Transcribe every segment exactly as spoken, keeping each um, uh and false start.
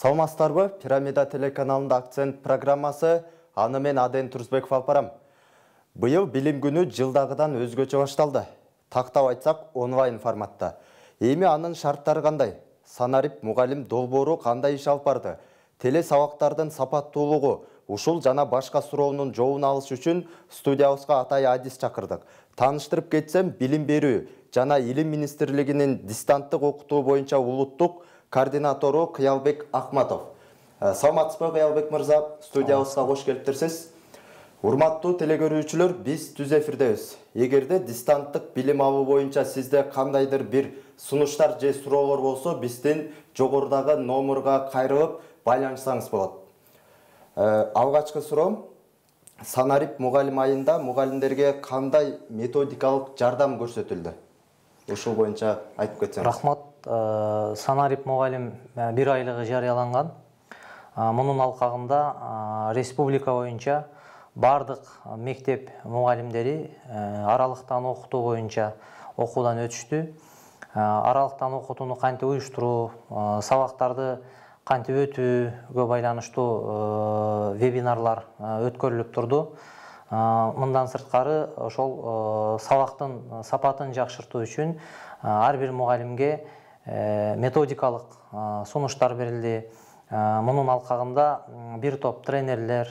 Саламатсыздарбы? Пирамида телеканалында акцент программасы, аны мен Аден Турсбеков алып барам. Быйыл билим күнү жылдагыдан өзгөчө башталды. Тактап айтсак, онлайн форматта. Эми анын шарттары кандай? Санарип мугалим долбоору кандай иш алып барды? Теле сабактардын сапаттуулугу, ушул жана башка суроонун жообун алыш үчүн студиябызга Атай Адис чакырдык. Тааныштырып кетсем, билим берүү жана илим министрлигинин дистанттык окутуу боюнча улуттук координатору Кыялбек Ахматов. Саламатсызбы, Кыялбек мырза, студиябызга кош келиптирсиз. Урматтуу телекөрүүчүлөр, биз түз эфирдебиз. Эгерде дистанттык билим алуу боюнча сизде кандайдыр бир сунуштар же суроолор болсо, биздин жогорудагы номурга кайрылып байланышсаңыз болот. Алгачкы суроом, Санарип мугалим айында мугалимдерге кандай методикалык жардам көрсөтүлдү? Ушул боюнча айтып кетсеңиз. Рахмат. Санарип мугалим бир айлыгы жарыяланган. Мунун алкагында республика боюнча бардык мектеп мугалимдери аралыктан окутуу боюнча окуудан өтүштү. Аралыктан окутууну кантип уюштуруу, сабактарды кантип өтүүгө байланыштуу вебинарлар өткөрүлүп турду. Мындан сырткары ошол сабактын сапатын жакшыртуу үчүн ар бир мугалимге методикалык сунуштар берилди. Мунун алкагында бир топ тренерлер,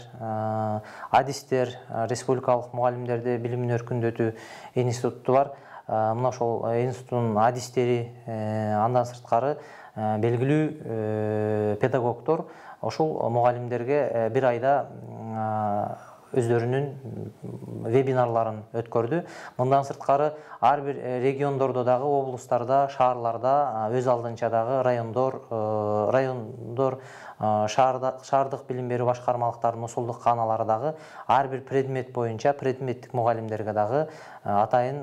адистер, республикалык мугалимдерди билимин өркүндөтүү институту бар. Мына ошол институттун адистери, андан сырткары белгилүү педагогдор ошол мугалимдерге бир айда өздөрүнүн вебинарларын өткөрдү. Мындан сырткары ар бир региондордо дагы, облустарда, шаарларда, өз алдынча дагы райондор, райондор, шаардык билим берүү башкармалыктарынын усулдук кааналары дагы ар бир предмет боюнча предметтик мугалимдерге дагы атайын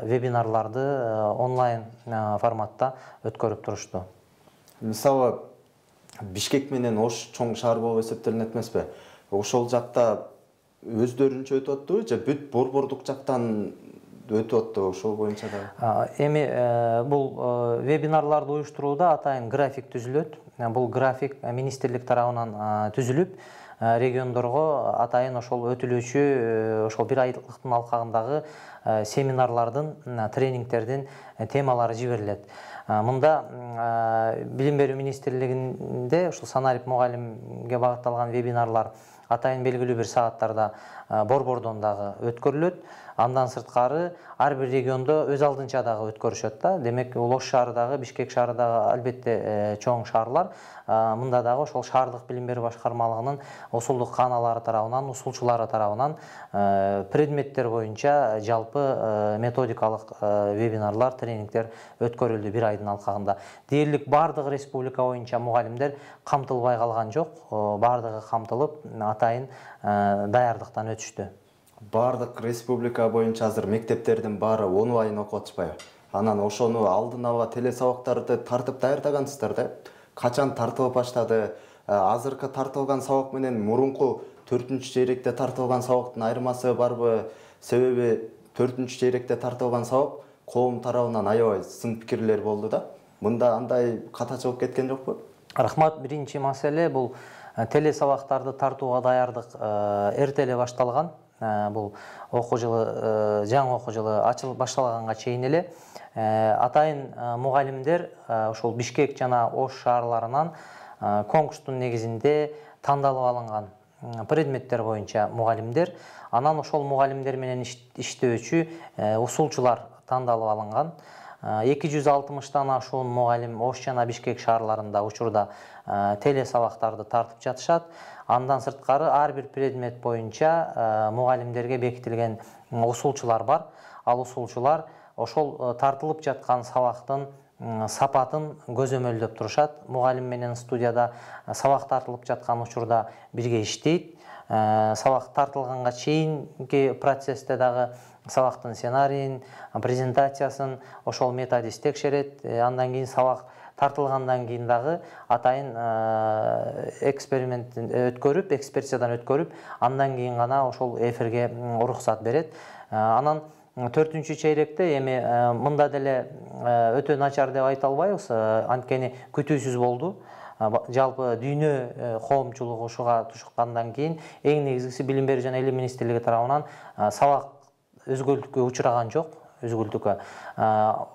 вебинарларды онлайн форматта өткөрүп турушту. Мисалы, Бишкек менен Ош чоң шаар болуп эсептелинет эмеспи? Ошол жакта өздөрүнчө өтүп аттыбы же бүт борбордук жактан өтүп аттыбы? Ошол боюнча да. Эми бул вебинарларды уюштурууда атайын график түзүлөт. Бул график министрлик тарабынан түзүлүп, региондорго атайын ошол өтүлүүчү ошол бир айлыктын алкагындагы семинарлардын, тренингтердин темалары жиберилет. Мында билим берүү министрлигинде ушул Санарип мугалимге багытталган вебинарлар атайын белгилүү бир сааттарда борбордон дагы өткөрүлөт. Андан сырткары ар бир региондо өз алдынча дагы өткөрүшөт да. Демек, Ош шаарындагы, Бишкек шаарындагы албетте чоң шаарлар. Мында дагы ошол шаардык билим берүү башкармалыгынын усулдук кааналары тарабынан, усулчулары тарабынан предметтер боюнча жалпы методикалык вебинарлар, тренингтер өткөрүлдү бир айдын алкагында. Дээрлик бардык республика боюнча мугалимдер камтылбай калган жок. Бардыгы камтылып, атайын даярдыктан өтүштү. Бардык республика боюнча азыр мектептердин баары онлайн окуп атышпайбы? Анан ошону алдын ала теле сабактарды тартып даярдагансыздар да. Качан тартылып баштады? Азыркы тартылган сабак менен мурунку төртүнчү чейректе тартылган сабактын айырмасы барбы? Себеби төртүнчү чейректе тартылган сабак коом тарабынан аябай сын пикирлер болду да. Мында андай катачылык кеткен жокпу? Рахмат. Биринчи маселе бул теле сабактарды тартууга даярдык эрте эле башталган. Бул окуу жылы, жаңы окуу жылы ачылып башталганга чейин эле атайын мугалимдер ошол Бишкек жана Ош шаарларынан конкурстун негизинде тандалып алынган предметтер боюнча мугалимдер, анан ошол мугалимдер менен иштөөчү усулчулар тандалып алынган. эки жүз алтымыштан ашуун мугалим Ош жана Бишкек шаарларында учурда теле сабактарды тартып жатышат. Андан сырткары ар бир предмет боюнча мугалимдерге бекитилген усулчулар бар. Ал усулчулар ошол тартылып жаткан сабактын сапатын көзөмөлдөп турушат. Мугалим менен студияда сабак тартылып жаткан учурда бирге иштейт. Сабак тартылганга чейинки процессте дагы сабактын сценарийин, презентациясын ошол методист текшерет. Андан кийин сабак тартылгандан кийин дагы атайын эксперимент өткөрүп, экспертизадан өткөрүп, андан кийин гана ошол эфирге уруксат берет. Анан төртүнчү чейректе эми мында деле өтө начар деп айта албайбыз, анткени күтүүсүз болду. жалпы дүйнө коомчулугу ушуга тушуккандан кийин эң негизгиси билим берүү жана илим министрлиги тарабынан сабак өзгөлтүккө учураган жок, өзгөлтүккө.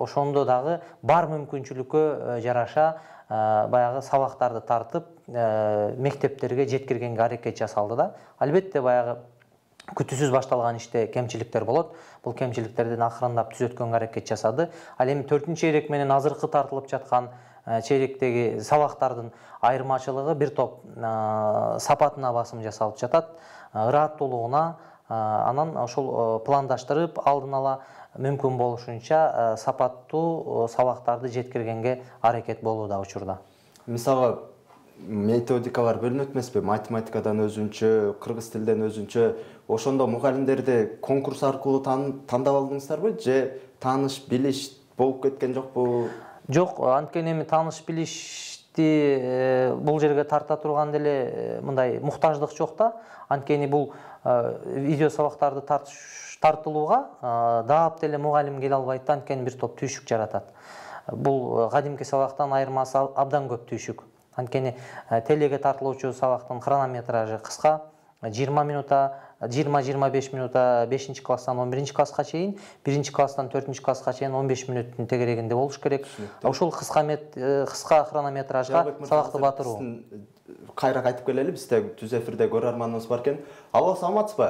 Ошондо дагы бар мүмкүнчүлүккө жараша баягы сабактарды тартып мектептерге жеткиргенге аракет жасалды да. Албетте баягы күтүүсүз башталган иште кемчиликтер болот. Бул кемчиликтерден акырындап түзөткөнгө аракет жасады. Ал эми төртүнчү чейрек менен азыркы тартылып жаткан чейректеги сабактардын айырмачылыгы бир топ сапатына басым жасалып жатат, ырааттуулугуна, анан ошол пландаштырып алдын ала мүмкүн болушунча сапаттуу сабактарды жеткиргенге аракет болууда учурда. Мисалы, методикалар бөлүнөт эмеспи? Математикадан өзүнчө, кыргыз тилден өзүнчө. Ошондо мугалимдерди конкурс аркылуу тандап алдыңыздарбы же тааныш билиш болуп кеткен жокпу? Жок, анткени эми тааныш билишти бул жерге тарта турган деле мындай муктаждык жок да. Анткени бул видео сабактарды тартылууга даап деле мугалим келе албайт, анткени бир топ түйшүк жаратат. Бул кадимки сабактан айырмасы абдан көп түйшүк. Анткени телеге тартылуучу сабактын хронометражы кыска, жыйырма минута, жыйырма жыйырма беш минута бешинчи класстан он биринчи класска чейин, биринчи класстан төртүнчү класска чейин он беш мүнөттүн тегерегинде болуш керек. Ошол кыска кыска хронометражга сабакты батыруу. Кайра кайтып келели, бизде түз эфирде көрөрманыбыз бар экен. Алло, саламатсызбы?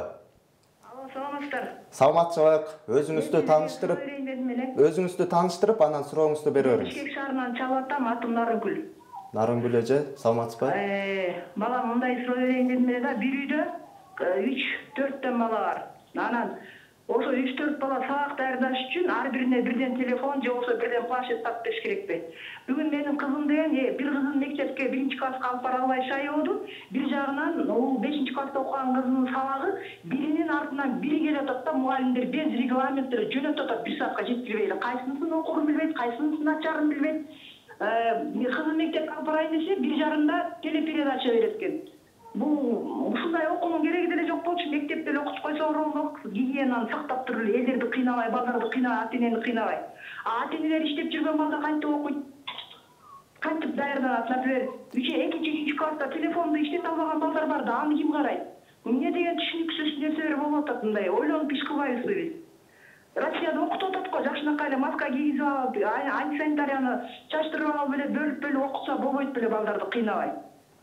Алло, саламатсыздар. Саламатчылык. Өзүңүздү тааныштырып, өзүңүздү тааныштырып, анан сурооңузду бере бериңиз. Бишкек шаарынан чалып атам, атым Нарынгүл. Нарынгүл эже, саламатсызбы? Балам мындай суроо берейин дедим эле да, бир үйдө үч төрттөн бала бар. Анан ошо үч төрт бала сабак даярдаш үчүн ар бирине бирден телефон же болбосо бирден планшет тапып бериш керекпи? Бүгүн менин кызым деген бир кызын мектепке биринчи класска алып бара албай шаyoоду. Бир жагынан бул бешинчи класста окуган кызынын сабагы биринин артынан бири келип атат да, мугалимдер без регламенттер жөнөтүп атат, бир саатка жеткирбей эле. Кайсынысын окурун билбейт, кайсынысын ачарын билбейт. Кызым мектепке алып барайын десе, бир жарымда телепередача берет экен. Бул ушундай окуунун кереги деле жок болчу. Мектепте эле окутуп койсо оролдук, гигиенаны сактап туруп эле, элдерди кыйнабай, балдарды кыйнабай, ата-энени кыйнабай. А ата-энелер иштеп жүргөн балдар кантип окуйт? Кантип даярданат? Например, экинчи үчүнчү класста телефонду иштете албаган балдар бар да, аны ким карайт? Эмне деген түшүнүксүз нерселер болуп атат мындай? Ойлонуп иш кылбайбызбы биз? Россияда окутуп атат го, жакшынакай эле маска кийгизип алып, антисанитарияны чачтырып алып эле бөлүп бөлүп окутса болбойт беле балдарды кыйнабай.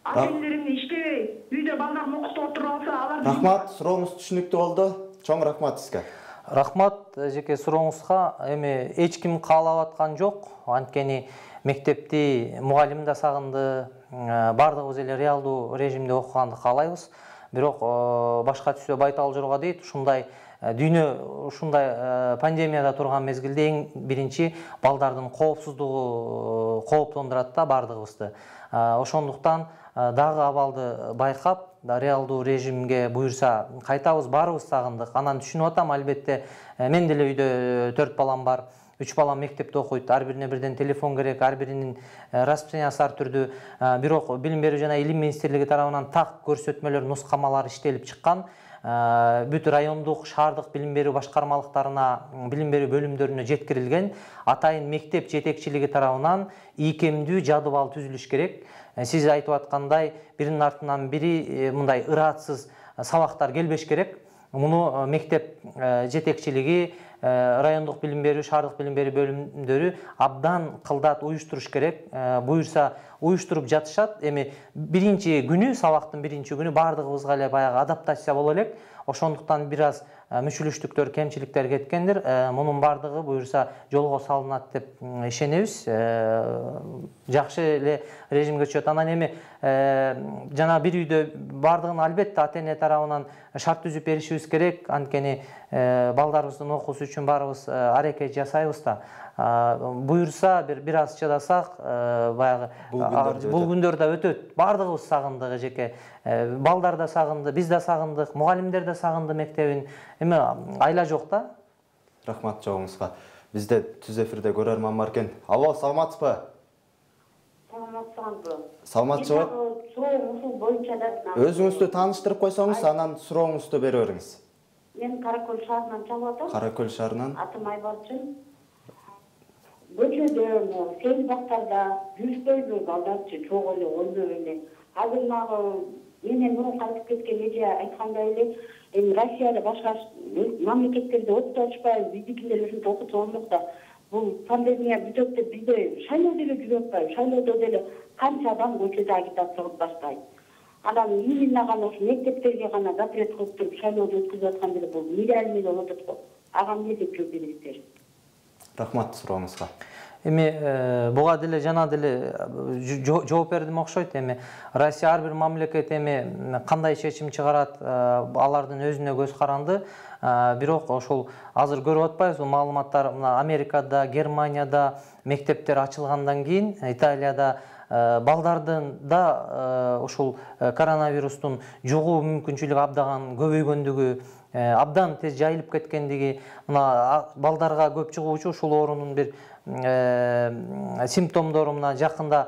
Ата-энелер эмне иштебей, үйдө балдарын окутуп отуруп алса, алар. Рахмат, сурооңуз түшүнүктүү болду. Чоң рахмат сизге. Рахмат жеке сурооңузга. Эми эч ким каалап аткан жок. Анткени мектепти мугалим да сагынды, бардыгыбыз эле реалдуу режимде окуганды каалайбыз. Бирок башка түсө байтал жорго дейт, ушундай дүйнө ушундай пандемияда турган мезгилде эң биринчи балдардын коопсуздугу кооптондурат да бардыгыбызды. Ошондуктан дагы абалды байкап, реалдуу режимге буюрса кайтабыз, баарыбыз сагындык. Анан түшүнүп атам, албетте мен деле үйдө төрт балам бар. Үч балам мектепте окуйт, ар бирине бирден телефон керек, ар биринин расписаниясы ар түрдүү. Бирок билим берүү жана илим министрлиги тарабынан так көрсөтмөлөр, нускамалар иштелип чыккан. Бүт райондук, шаардык билим берүү башкармалыктарына, билим берүү бөлүмдөрүнө жеткирилген. Атайын мектеп жетекчилиги тарабынан ийкемдүү жадыбал түзүлүш керек. Сиз айтып аткандай, биринин артынан бири мындай ыраатсыз сабактар келбеш керек. Муну мектеп жетекчилиги, райондук билим берүү, шаардык билим берүү бөлүмдөрү абдан кылдат уюштуруш керек. Буюрса уюштуруп жатышат. Эми биринчи күнү, сабактын биринчи күнү бардыгыбызга эле баягы адаптация боло элек. Ошондуктан бир аз мүчүлүштүктөр, кемчиликтер кеткендир. Мунун бардыгы буюрса жолго салынат деп ишенебиз. Жакшы эле режимге түшөт. Анан эми жана бир үйдө бардыгын албетте ата-эне тарабынан шарт түзүп беришибиз керек. Анткени балдарыбыздын окуусу үчүн баарыбыз аракет жасайбыз да. Буюрса бир аз чыдасак, баягы бул күндөр да өтөт. Бардыгыбыз сагындык эжеке. Балдар да сагынды, биз да сагындык, мугалимдер да сагынды мектебин. Эми айла жок да. Рахмат жоңузга. Бизде түз эфирде көрөрман бар экен. Алло, саламатсызбы? Саламатсызбы? Саламатчылык. Суроо ушул боюнча да. Өзүңүздү тааныштырып койсоңуз, анан сурооңузду бере бериңиз. Мен Каракөл шаарынан чалып атам. Каракөл шаарынан. Атым Айбарчын. көчөдө, сел бактарда жүрүшпөйбү, балдарчы чогуу эле ойноп эле. Азыр мага менен мурун кайтып кеткен эже айткандай эле, эми Россияда башка мамлекеттерде окута атышпайбы, биздикилер ушинтип окутуп болмок да. Бул пандемия бүтөт деп бизде шайлоо деле жүрүп атпайбы? Шайлоодо деле канча адам көчөдө агитация кылып баштайт. Анан именно гана ушу мектептерге гана запрет кылып туруп шайлооду өткүзүп аткан деле бул нереальный болуп атат го. Ага эмне деп жооп бересиздер? Рахмат сурооңузга. Эми буга деле жана деле жооп бердим окшойт. Эми Россия ар бир мамлекет эми кандай чечим чыгарат, алардын өзүнө көз каранды. Бирок ошол азыр көрүп атпайбызбы маалыматтар, мына Америкада, Германияда мектептер ачылгандан кийин, Италияда балдардын да ошол коронавирустун жугуу мүмкүнчүлүгү абдан көбөйгөндүгү, абдан тез жайылып кеткендиги, мына балдарга көп чыгуучу ушул оорунун бир симптомдору мына жакында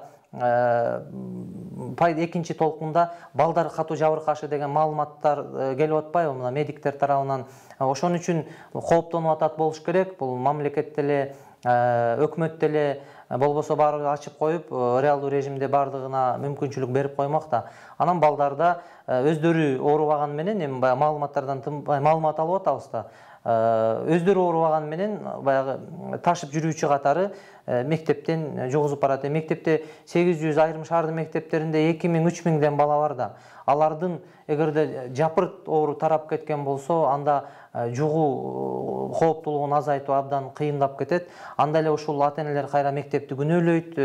экинчи толкунда балдар катуу жабыркашы деген маалыматтар келип атпайбы мына медиктер тарабынан. Ошон үчүн кооптонуп атат болуш керек. Бул мамлекет деле, өкмөт деле болбосо баары ачып коюп, реалдуу режимде бардыгына мүмкүнчүлүк берип коймок да. Анан балдарда өздөрү оорубаган менен, эми баягы маалыматтардан маалымат алып атабыз да. Өздөрү оорубаган менен баягы ташып жүрүүчү катары мектептен жугузуп барат. Мектепте сегиз жүз, айрым шаардын мектептеринде эки миң, үч миңден бала бар да. Алардын эгерде жапырт оору тарап кеткен болсо, анда жугуу кооптуулугун азайтуу абдан кыйындап кетет. Анда эле ушул ата-энелер кайра мектепти күнөөлөйт.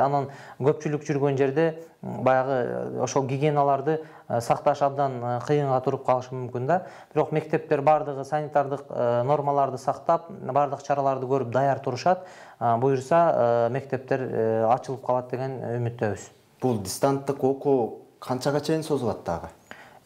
Анан көпчүлүк жүргөн жерде баягы ошол гигиеналарды сакташ абдан кыйынга туруп калышы мүмкүн да. Бирок мектептер бардыгы санитардык нормаларды сактап, бардык чараларды көрүп даяр турушат. Буюрса мектептер ачылып калат деген үмүттөбүз. Бул дистанттык окуу канчага чейин созулат дагы?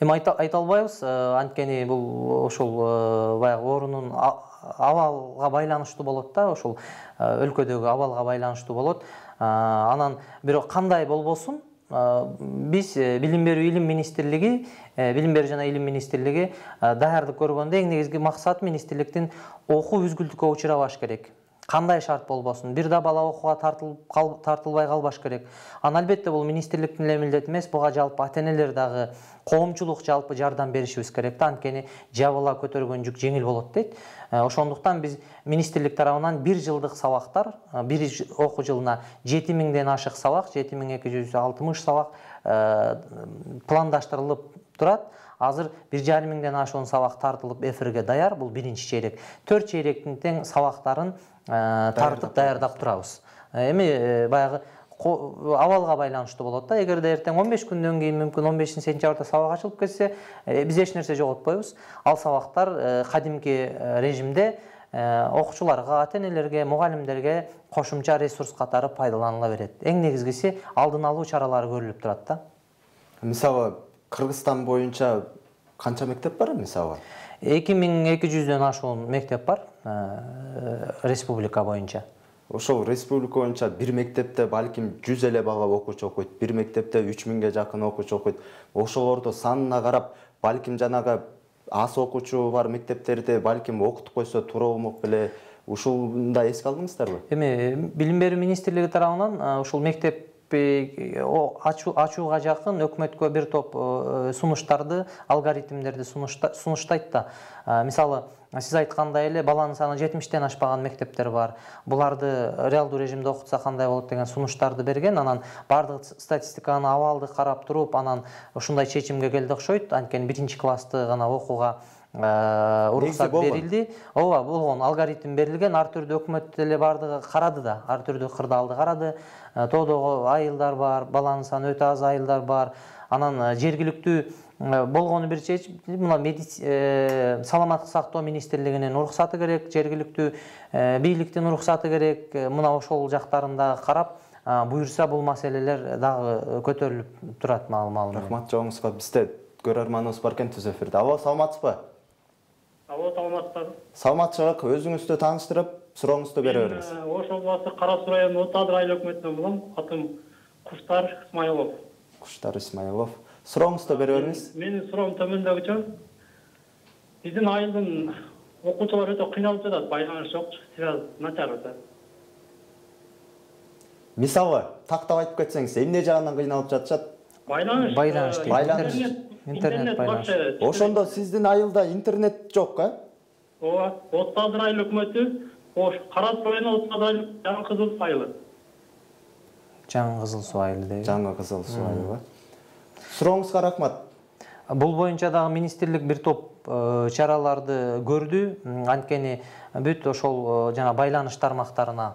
Эми айта албайбыз, анткени бул ошол баягы оорунун абалга байланыштуу болот да, ошол өлкөдөгү абалга байланыштуу болот. Анан бирок кандай болбосун, биз билим берүү илим министрлиги, билим берүү жана илим министрлиги даярдык көргөндө эң негизги максат министрликтин окуу үзгүлтүккө учурабаш керек. Кандай шарт болбосун, бир да бала окууга тартылбай калбаш керек. Анан албетте бул министрликтин эле милдети эмес, буга жалпы ата-энелер дагы, коомчулук жалпы жардам беришибиз керек да, анткени жабыла көтөргөн жүк жеңил болот дейт. Ошондуктан биз министрлик тарабынан бир жылдык сабактар, бир окуу жылына жети миңден ашык сабак, жети миң эки жүз алтымыш сабак пландаштырылып турат. Азыр бир жарым миңден ашуун сабак тартылып эфирге даяр. Бул биринчи чейрек. Төрт чейректин тең сабактарын тартып даярдап турабыз. Эми баягы абалга байланыштуу болот да. Эгерде эртең он беш күндөн кийин мүмкүн он бешинчи сентябрда сабак ачылып кетсе, биз эч нерсе жоготпойбуз. Ал сабактар кадимки режимде окуучуларга, ата-энелерге, мугалимдерге кошумча ресурс катары пайдаланыла берет. Эң негизгиси алдын алуу чаралары көрүлүп турат да. Мисалы, Кыргызстан боюнча канча мектеп бар мисалы? эки миң эки жүздөн ашуун мектеп бар республика боюнча. Ошол республика боюнча бир мектепте балким жүз эле бала окуучу окуйт, бир мектепте үч миңге жакын окуучу окуйт. Ошолорду санына карап, балким жанагы аз окуучу бар мектептерде балким окутуп койсо туура болмок беле. Ушунда эске алдыңыздарбы? Эми билим берүү министрлиги тарабынан ушул мектеп ачууга жакын өкмөткө бир топ сунуштарды, алгоритмдерди сунуштайт да. Мисалы, сиз айткандай эле баланын саны жетимиштен ашпаган мектептер бар. Буларды реалдуу режимде окутса кандай болот деген сунуштарды берген. Анан бардык статистиканы, абалды карап туруп, анан ушундай чечимге келди окшойт. Анткени биринчи классты гана окууга уруксат берилди. Ооба, болгон алгоритм берилген. Ар түрдүү өкмөт эле бардыгы карады да, ар түрдүү кырдаалды карады. Тоодогу айылдар бар, баланын саны өтө аз айылдар бар. Анан жергиликтүү болгону бир чечим, мына саламаттык сактоо министрлигинин уруксаты керек, жергиликтүү бийликтин уруксаты керек. Мына ошол жактарында карап, буюрса бул маселелер дагы көтөрүлүп турат маалымат. Рахмат жооңузга. Бизде көрөрманыбыз бар экен түз эфирде. Алло, саламатсызбы? Алло, саламатсызбы? Саламатчылык, өзүңүздү тааныштырып, сурооңузду бере бериңиз. Ош областы Кара Суу району Отадыр айыл өкмөтүнөн болом. Атым Куштар Исмаилов. Куштар Исмаилов. Сурооңузду бере бериңиз. Менин суроом төмөндөгүчө. Биздин айылдын окуучулар өтө кыйналып жатат, байланыш жок, связь начар өтө. Мисалы, тактап айтып кетсеңиз, эмне жагынан кыйналып жатышат? Байланыш. Байланыш дейт. Байланыш. Интернет байланыш. Ошондо сиздин айылда интернет жок, э? Ооба, отуз алты айыл өкмөтү, ош Кара Суу району отуз алты айыл жаңы Кызыл Суу айылы. Жаңы Кызыл Суу айылы дейби. Жаңы Кызыл Суу айылы. Сурооңузга рахмат. Бул боюнча дагы министрлик бир топ чараларды көрдү. Анткени бүт ошол жана байланыш тармактарына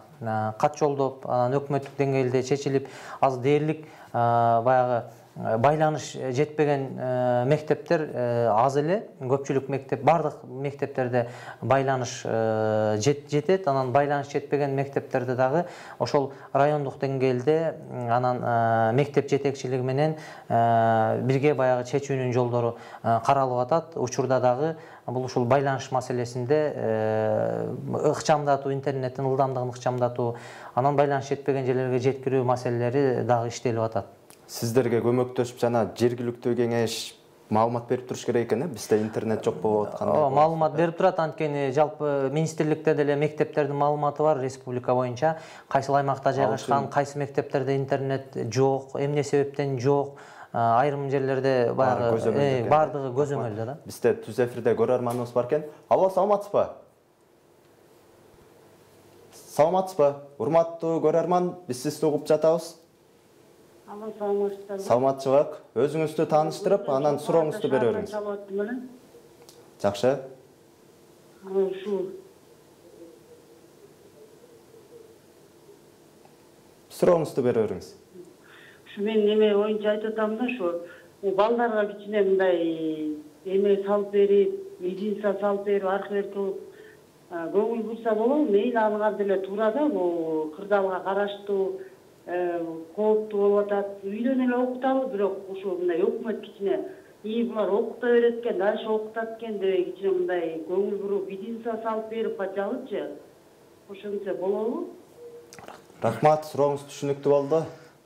кат жолдоп, анан өкмөттүк деңгээлде чечилип, азыр дээрлик баягы байланыш жетпеген мектептер аз эле, көпчүлүк мектеп, бардык мектептерде байланыш жетет, анан байланыш жетпеген мектептерде дагы ошол райондук деңгээлде анан мектеп жетекчилиги менен бирге баягы чечүүнүн жолдору каралып атат. Учурда дагы бул ушул байланыш маселесинде ыкчамдатуу, интернеттин ылдамдыгын ыкчамдатуу, анан байланыш жетпеген жерлерге жеткирүү маселелери дагы иштелип атат. Сиздерге көмөктөшүп жана жергиликтүү кеңеш маалымат берип туруш керек экен, э? Бизде интернет жок болуп аткандай. Ооба, маалымат берип турат, анткени жалпы министрликте деле мектептердин маалыматы бар республика боюнча. Кайсыл аймакта жайгашкан, кайсы мектептерде интернет жок, эмне себептен жок, айрым жерлерде баягы бардыгы көзөмөлдө да. Бизде түз эфирде көрөрманыбыз бар экен. Алло, саламатсызбы? Саламатсызбы? Урматтуу көрөрман, биз сизди угуп жатабыз. Алло, саламатсыздарбы? Саламатчылык. Өзүңүздү тааныштырып, анан сурооңузду бере бериңиз. Жакшы. Ушу Сурооңузду бере бериңиз. Ушу мен неме оюнча айтып атам да, ушу балдарга кичине мындай эме салып берип, единица салып берип, аркылы кылып көңүл бурса болобу? Мейли алган деле туура да, бул кырдаалга караштуу кооптуу болуп атат. Үйдөн эле окуталы, бирок ушул мындай өкмөт кичине ии булар окута берет экен, дальше окутат экен деп кичине мындай көңүл буруп, единица салып берип бачалычы. Ошентсе болобу? Рахмат, сурооңуз түшүнүктүү болду.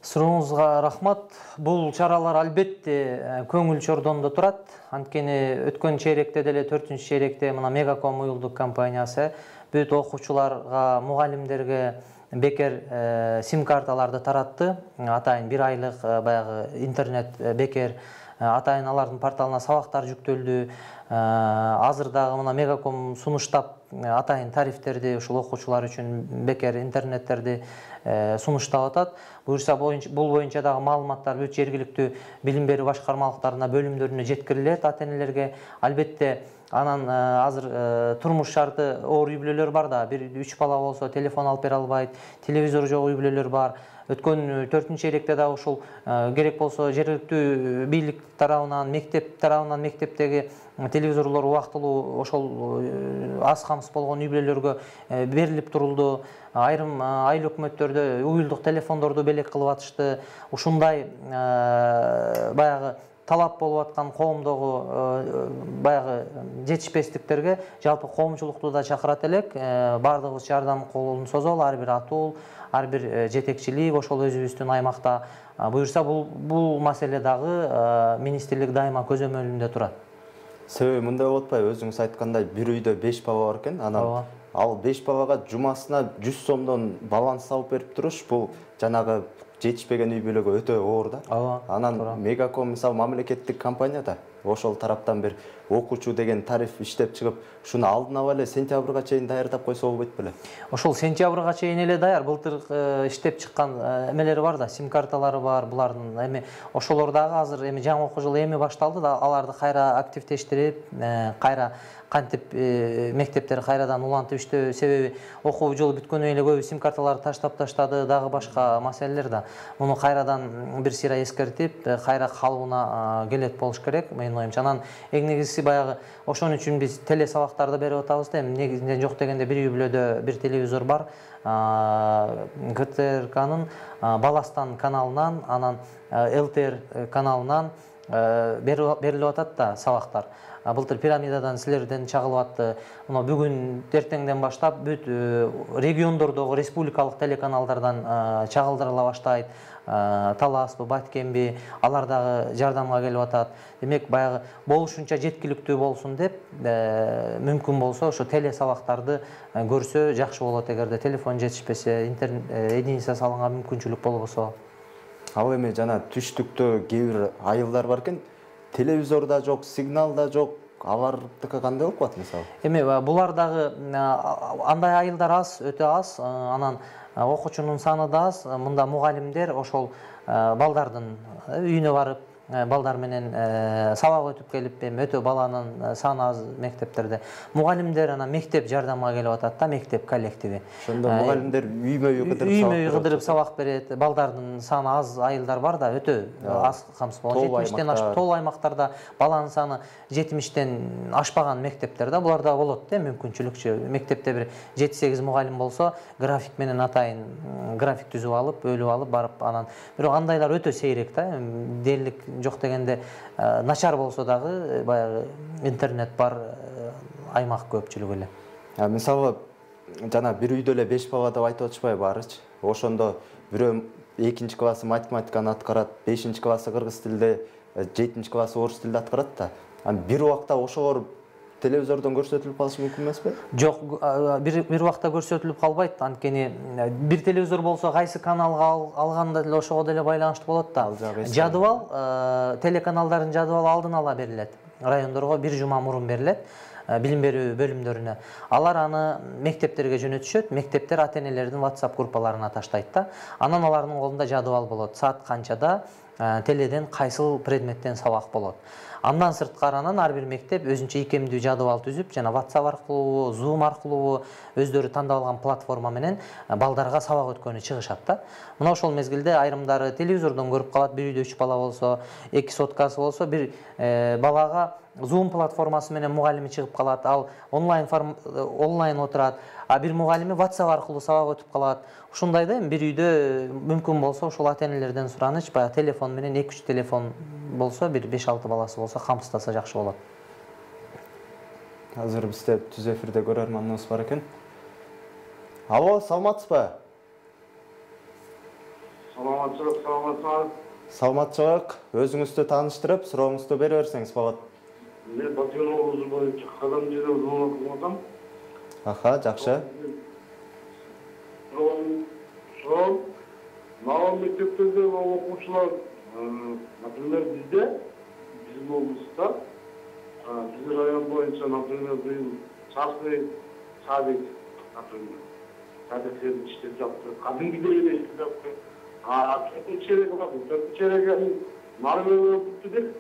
Сурооңузга рахмат. Бул чаралар албетте көңүл чордондо турат. Анткени өткөн чейректе деле төртүнчү чейректе мына Мегаком уюлдук компаниясы бүт окуучуларга, мугалимдерге бекер сим карталарды таратты. Атайын бир айлык баягы интернет бекер, атайын алардын порталына сабактар жүктөлдү. Азыр дагы мына Мегаком сунуштап атайын тарифтерди ушул окуучулар үчүн бекер интернеттерди сунуштап атат. Буюрса бул боюнча дагы маалыматтар бүт жергиликтүү билим берүү башкармалыктарына, бөлүмдөрүнө жеткирилет атенелерге. Албетте анан азыр турмуш шарты оор үй бүлөлөр бар да, бир үч бала болсо телефон алып бере албайт, телевизор жок үй бүлөлөр бар. Өткөн төртүнчү чейректе дагы ушул керек болсо жергиликтүү бийлик тарабынан, мектеп тарабынан мектептеги телевизорлор убактылуу ошол аз камсыз болгон үй бүлөлөргө берилип турулду. Айрым айыл өкмөттөрдө уюлдук телефондорду белек кылып атышты. Ушундай баягы талап болуп аткан коомдогу баягы жетишпестиктерге жалпы коомчулукту да чакырат элек. Бардыгыбыз жардам колун созолу, ар бир атуу, ар бир жетекчилик ошол өзүбүздүн аймакта. Буюрса бул бул маселе дагы министрлик дайыма көзөмөлүндө турат. Себеби мындай болуп атпайбы, өзүңүз айткандай бир үйдө беш бала бар экен, анан ал беш балага жумасына жүз сомдон баланс салып берип туруш, бул жанагы жетишпеген үй бүлөгө өтө оор да. Анан Мегаком мисалы мамлекеттик компания да, ошол тараптан бир окуучу деген тариф иштеп чыгып, ушуну алдын ала эле сентябрга чейин даярдап койсо болбойт беле? Ошол сентябрга чейин эле даяр. Былтыр иштеп чыккан эмелери бар да, сим карталары бар булардын. Эми ошолор дагы азыр эми жаңы окуу жылы эми башталды да, аларды кайра активдештирип, кайра кантип мектептер кайрадан улантып иштөө, себеби окуу жылы бүткөнүнөн эле көбү сим карталарды таштап таштады, дагы башка маселелер да. Муну кайрадан бир сыйра эскертип, кайра калыбына келет болуш керек, менин оюмча. Анан эң негизгиси баягы ошон үчүн биз теле сабактарды берип атабыз да. Эми негизинен жок дегенде бир үй бүлөдө бир телевизор бар. ГТРКнын Баластан каналынан, анан ЛТР каналынан берилип атат да сабактар. Былтыр пирамидадан силерден чагылып атты. Мына бүгүн эртеңден баштап бүт региондордогу республикалык телеканалдардан чагылдырыла баштайт. Таласпы, Баткенби, алар дагы жардамга келип атат. Демек, баягы болушунча жеткиликтүү болсун деп, мүмкүн болсо ошо теле сабактарды көрсө жакшы болот эгерде телефон жетишпесе, интернет единица салганга мүмкүнчүлүк болбосо. Ал эми жана түштүктө кээ бир айылдар бар экен, телевизор да жок, сигнал да жок. Алардыкы кандай болуп калат мисалы? Эми булар дагы андай айылдар аз, өтө аз. Анан окуучунун саны да аз. Мында мугалимдер ошол балдардын үйүнө барып, балдар менен сабак өтүп келип, эми өтө баланын саны аз мектептерде. Мугалимдер анан мектеп жардамга келип атат да, мектеп коллективи. Ошондо мугалимдер үймө-үй кыдырып сабак үймө-үй кыдырып сабак берет. Балдардын саны аз айылдар бар да, өтө аз камсыз болгон. жетимиштен ашып тол аймактарда баланын саны жетимиштен ашпаган мектептерде буларда болот да, мүмкүнчүлүкчү. Мектепте бир жети сегиз мугалим болсо, график менен атайын график түзүп алып, бөлүп алып барып анан. Бирок андайлар өтө сейрек да. Дээрлик жок дегенде начар болсо дагы баягы интернет бар аймак көпчүлүгү эле. Мисалы, жана бир үйдө эле беш бала деп айтып атышпайбы баарычы? Ошондо бирөө экинчи классы математиканы аткарат, бешинчи классы кыргыз тилде, жетинчи классы орус тилде аткарат да. Бир убакта ошолор телевизордон көрсөтүлүп калышы мүмкүн эмеспи? Жок, бир бир убакта көрсөтүлүп калбайт. Анткени бир телевизор болсо кайсы каналга алганда деле ошого деле байланыштуу болот да. Жадыбал, телеканалдардын жадыбалы алдын ала берилет. Райондорго бир жума мурун берилет. Билим берүү бөлүмдөрүнө. Алар аны мектептерге жөнөтүшөт. Мектептер ата-энелердин WhatsApp группаларына таштайт да. Анан алардын колунда жадыбал болот. Саат канчада теледен кайсыл предметтен сабак болот. Андан сырткары анан ар бир мектеп өзүнчө икемдүү жадыбал түзүп, жана WhatsApp аркылуу, Zoom аркылуу өздөрү тандап алган платформа менен балдарга сабак өткөнү чыгышат да. Мына ошол мезгилде айрымдары телевизордон көрүп калат, бир үйдө үч бала болсо, эки соткасы болсо, бир балага Zoom платформасы менен мугалими чыгып калат, ал онлайн онлайн отурат, а бир мугалими WhatsApp аркылуу сабак өтүп калат. Ушундай да, бир үйдө мүмкүн болсо ошол ата-энелерден сураныч, баягы телефон менен эки үч телефон болсо, бир беш алты баласы болсо камсыздаса жакшы болот. Азыр бизде түз эфирде көрөрманыбыз бар экен. Алло, саламатсызбы? Саламатчылык, саламатсызбы? Саламатчылык. Өзүңүздү тааныштырып, сурооңузду бере берсеңиз болот. Мен Баткен облусу боюнча Кадам жерде звонок кылдым. Аха, жакшы. Суроо, мына мектептерде окуучулар, например, бизде, биздин облуста, биздин район боюнча, например, быйыл частный садик, например, садиктерди иштеп жатты, кадимкидей эле иштеп жатты. А төртүнчү череги бар, төртүнчү череги маарыбы бүттү деп,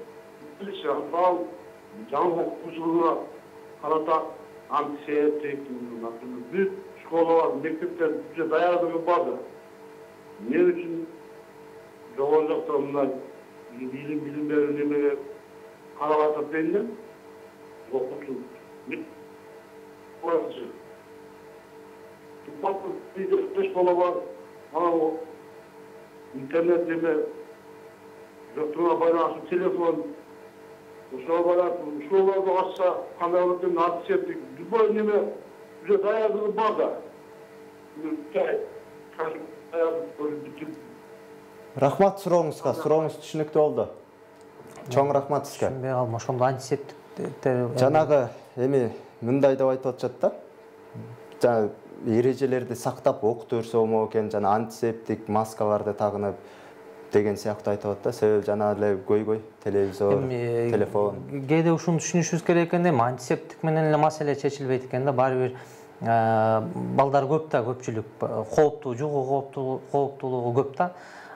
билиши, ал жаңы окуучуларга карата антисептик, например, бүт школалар, мектептер уже даярдыгы бар. Эмне үчүн жогору жакта мындай билим билим берүү немеге карап атат дейм, окуучу мектеп беш бала бар, анан интернет неме жоктугуна байланыштуу телефон, ошого байланыштуу школаларды ачса кандай болот деп антисептик любой неме уже даярдыгы бар да. Рахмат сурооңузга, сурооңуз түшүнүктүү болду. Чоң рахмат сизге. Түшүнбөй калдым, ошондо антисептиктер жанагы эми мындай деп айтып атышат да. Жана эрежелерди сактап окутуп берсе болмок экен, жана антисептик маскаларды тагынып деген сыяктуу айтып атат да. Себеби жана эле көйгөй, телевизор, телефон. Кээде ушуну түшүнүшүбүз керек экен да, антисептик менен эле маселе чечилбейт экен да, баары бир балдар көп да, көпчүлүк кооптуу, жугуу кооптуулугу көп да.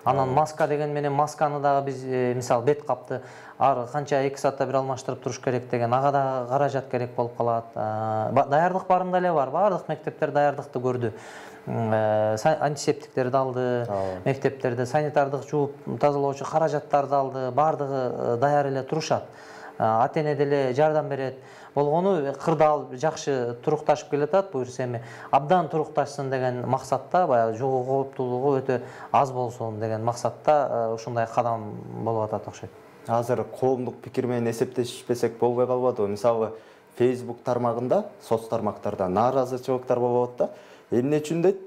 Анан маска деген менен масканы дагы биз мисалы бет капты ар канча эки саатта бир алмаштырып туруш керек деген, ага да каражат керек болуп калат. Даярдык барында эле бар, баардык мектептер даярдыкты көрдү. Антисептиктерди алды, мектептерде санитардык жууп тазалоочу каражаттарды алды, баардыгы даяр эле турушат. Ата-эне деле жардам берет. Болгону кырдаал жакшы турукташып келатат, буюрса эми абдан турукташсын деген максатта, баягы жугуу кооптуулугу өтө аз болсун деген максатта ушундай кадам болуп атат окшойт. азыр коомдук пикир менен эсептешпесек болбой калбадыбы? Мисалы, Facebook тармагында, соц тармактарда нааразычылыктар болуп атат да. Эмне үчүн дейт?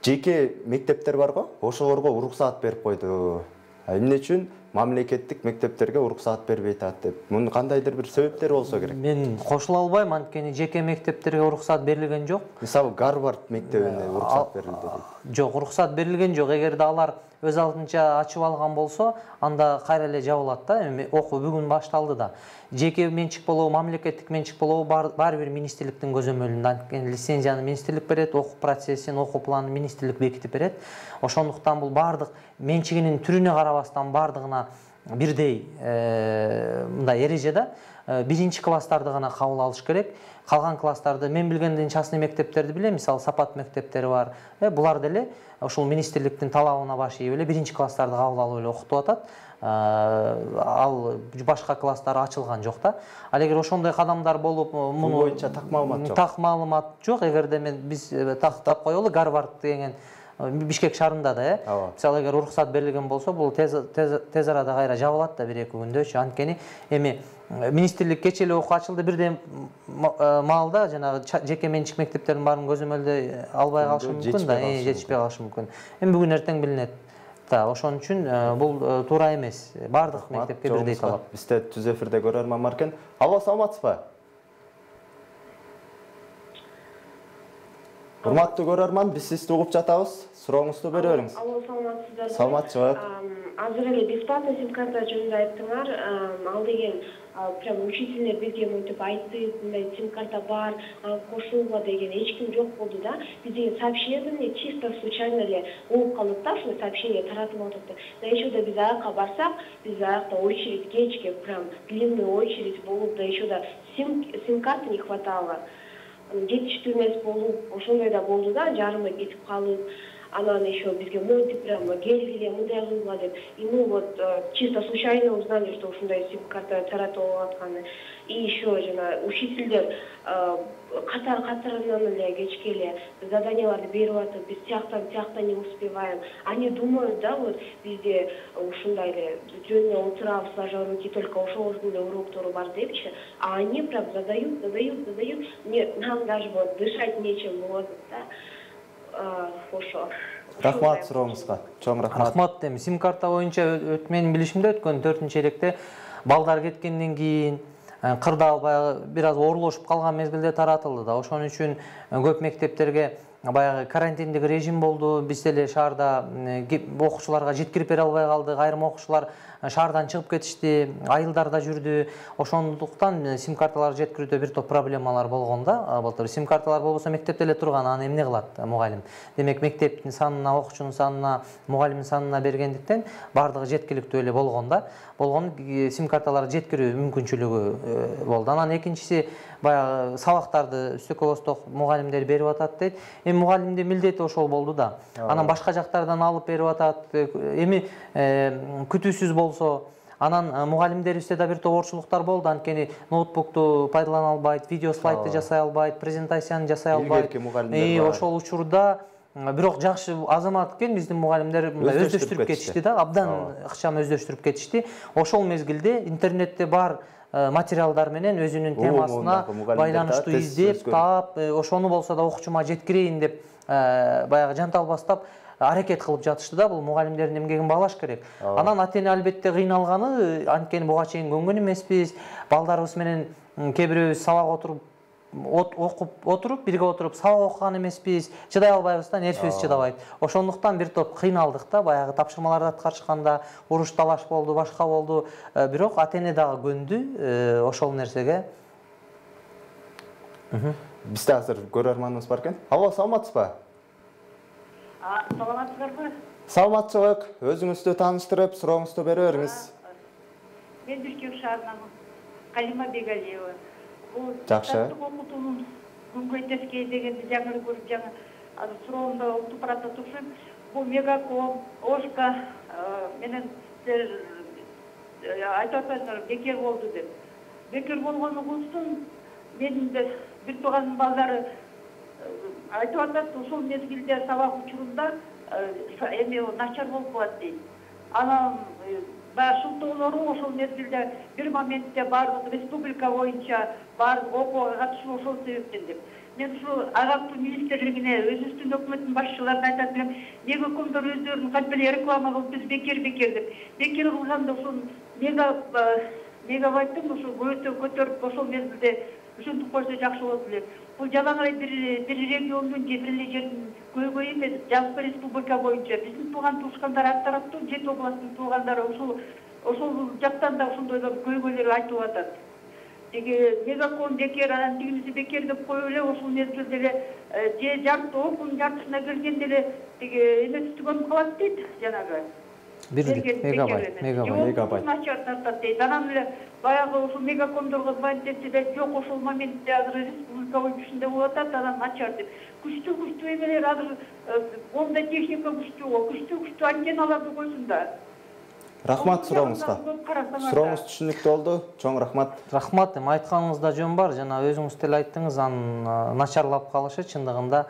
Жеке мектептер бар го, ошолорго уруксаат берип койду. Эмне үчүн мамлекеттик мектептерге уруксаат бербей атат деп. Мунун кандайдыр бир себептери болсо керек. Мен кошула албайм, анткени жеке мектептерге уруксаат берилген жок. Мисалы, Гарвард мектебине уруксаат берилди дейт. Жок, уруксаат берилген жок. Эгерде алар өз алдынча ачып алган болсо, анда кайра эле жабылат да. Эми окуу бүгүн башталды да. Жеке менчик болобу, мамлекеттик менчик болобу баары бир министрликтин көзөмөлүндө. Анткени лицензияны министрлик берет, окуу процессин, окуу планын министрлик бекитип берет. Ошондуктан бул баардык менчигинин түрүнө карабастан баардыгына бирдей мындай эреже да. Биринчи класстарды гана кабыл алыш керек. Калган класстарды мен билгенден частный мектептерди билем, мисалы Сапат мектептери бар. Булар деле ушул министрликтин талабына баш ийип эле биринчи класстарды кабыл алып эле окутуп атат. Ал башка класстары ачылган жок да. Ал эгер ошондой кадамдар болуп, муну боюнча так маалымат жок. Так маалымат жок. Эгерде мен биз тактап коелу Гарвард деген Бишкек шаарында да, э. Мисалы, эгер уруксаат берилген болсо, бул тез тез арада кайра жабылат да бир эки күндөчү. Анткени эми министрлик кечээ эле окуу ачылды, бирден маалда жанагы жеке менчик мектептердин баарын көзөмөлдөй албай калышы мүмкүн да, жетишпей калышы мүмкүн. Эми бүгүн эртең билинет. Да, ошон үчүн бул туура эмес. Баардык мектепке бирдей талап. Бизде түз эфирде көрөрман бар экен. Алло, саламатсызбы? Урматтуу көрөрман, биз сизди угуп жатабыз. Сурооңузду бере бериңиз. Алло, саламатсыздарбы? Саламатчылык. Азыр эле бесплатный сим-карта жөнүндө айттыңар. Ал деген прям учительдер бизге мынтип айтты, мындай сим-карта бар, кошулгула деген эч ким жок болду да. Бизге сообщение чисто случайно эле болуп калды да, ошо сообщение таратып атыптыр. Да еще да биз аяка барсак, биз аякта очередь кечке прям длинный очередь болуп, да еще да сим сим-карты не хватало. Жетиштүү эмес болуп, ошондой да болду да, жарымы кетип калып. Анан еще бизге мынтип прямо келгиле, мындай кылгыла деп. И мы вот чисто случайно узнали, что ушундай сим-карта таратып атканы. И еще жана учительдер катар катарынан эле кечке эле заданияларды берип атып, биз тияктан тиякта не успеваем. Они думают, да, вот бизде ушундай эле жөнүнө отурабыз, сложа руки, только ошолордун эле уроктору бар депчи. А они прям задают, задают, задают. Мне нам даже вот дышать нечем болот да. Ошо. Рахмат сурооңузга. Чоң рахмат. Рахмат. Эми сим-карта боюнча менин билишимде өткөн төртүнчү электе балдар кеткенден кийин кырда албай бир аз оорлошуп калган мезгилде таратылды да. Ошон үчүн көп мектептерге баягы карантиндик режим болду. Биз деле шаарда окуучуларга жеткирип бере албай калдык. Айрым окуучулар шаардан чыгып кетишти, айылдарда жүрдү. Ошондуктан сим-карталар жеткирүүдө бир топ проблемалар болгон да. Былтыр сим-карталар болбосо мектепте эле турган, аны эмне кылат мугалим? Демек мектептин санына, окуучунун санына, мугалимдин санына бергендиктен баардыгы жеткиликтүү эле болгон да. Болгон сим-карталар жеткирүү мүмкүнчүлүгү болду. Анан экинчиси баягы сабактарды үстөккө босток мугалимдер берип атат дейт. Эми мугалимдин милдети ошол болду да. Анан башка жактардан алып берип атат. Эми күтүүсүз болсо, анан мугалимдерибизде да бир топ оорчулуктар болду. Анткени ноутбукту пайдалана албайт, видео слайдты жасай албайт, презентацияны жасай албайт. И ошол учурда бирок жакшы азамат экен биздин мугалимдер өздөштүрүп кетишти да, абдан ыкчам өздөштүрүп кетишти. Ошол мезгилде интернетте бар материалдар менен өзүнүн темасына байланыштуу издеп, таап, ошону болсо да окуучума жеткирейин деп баягы жанталбастап аракет кылып жатышты да. Бул мугалимдердин эмгегин баалаш керек. Анан ата-эне албетте кыйналганы, анткени буга чейин көнгөн эмеспиз. Балдарыбыз менен кээ бирөөбүз сабак отуруп окуп отуруп, бирге отуруп сабак окуган эмеспиз. Чыдай албайбыз да, нервибиз чыдабайт. Ошондуктан бир топ кыйналдык да, баягы тапшырмаларды аткарышканда уруш талаш болду, башка болду. Бирок ата-эне дагы көндү ошол нерсеге. Бизде азыр көрөрманыбыз бар экен. Алло, саламатсызбы? Саламатсыздарбы? Саламатчылык. Өзүңүздү тааныштырып, сурооңузду бере бериңиз. Мен Бишкек шаарынан Калима Бегалиева. Жакшы. Окутуунун күнгөйдөскө дегенди жаңы көрүп, жаңы азыр суроомду уктуп баратып турушум. Бул Мегаком, Ошка менен силер айтып атасыңар бекер болду деп. Бекер болгону болсун, менин бир тууганымдын балдары айтып атат, ушул мезгилде сабак учурунда эми начар болуп калат дейт. Анан баягы шылтоолору ошол мезгилде бир моментте баардык республика боюнча баардык окууга катышуу ошол себептен деп. Мен ушул агартуу министрлигине, өзүбүздүн өкмөттүн башчыларына айтат элем, мегакомдор өздөрүнүн кантип реклама кылып биз бекер бекер деп. Бекер кылганда ушул мега мегабайттын ушул көтө көтөрүп ошол мезгилде ушинтип койсо жакшы болот эле. Бул жалаң эле бир бир региондун же бир эле жердин көйгөйү эмес, жалпы республика боюнча биздин тууган туушкандар ар тараптуу жети областтын туугандары ушул ошол жактан да ошондой көйгөйлөр айтып атат. Тиги мегаком бекер, анан тигиниси бекер деп коюп эле ошол мезгилде эле же жарты окуунун жартысына келгенде эле тиги эмеси түгөнүп калат дейт жанагы. Бирдик мегабайт, мегабайт. Начар тартат дейт. Анан эле баягы ошол мегакомдорго звонить этсе да жок, ошол моментте азыр республика боюнча ушундай болуп атат, анан начар деп. Күчтүү күчтүү эмелер азыр онда техника күчтүү го, күчтүү күчтүү антенналарды койсун да. Рахмат сурооңузга. Сурооңуз түшүнүктүү болду. Чоң рахмат. Рахмат. Эми айтканыңызда жөн бар. Жана өзүңүз деле айттыңыз, анын начарлап калышы чындыгында